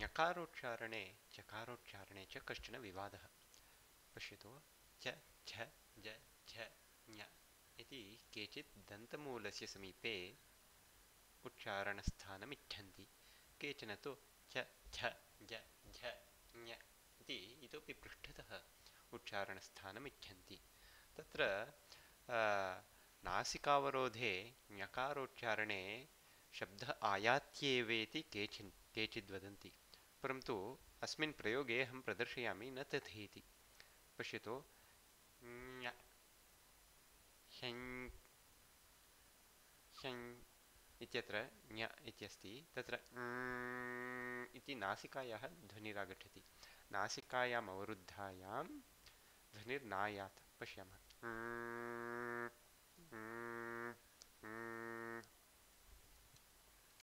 ञकारोच्चारणे चकारोच्चारणे च कश्चन विवादः। पश्यतु, च झ ज झ ञ इति केचित् दन्तमूलस्य समीपे उच्चारणस्थानमिच्छन्ति, केचन तु च झ ज झ ञ इति इतोपि पृष्ठतः उच्चारणस्थानमिच्छन्ति। तत्र नासिकावरोधे ञकारोच्चारणे शब्दः आयात्येवेति केचिद् वदन्ति, परन्तु अस्मिन् प्रयोगे अहं प्रदर्शयामि न तथेति। पश्यतु, ञ ह्यं ह्यं इत्यत्र ञ इत्यस्ति, तत्र इति नासिकायाः ध्वनिरागच्छति। नासिकायाम् अवरुद्धायां ध्वनिर्नायात्। पश्यामः,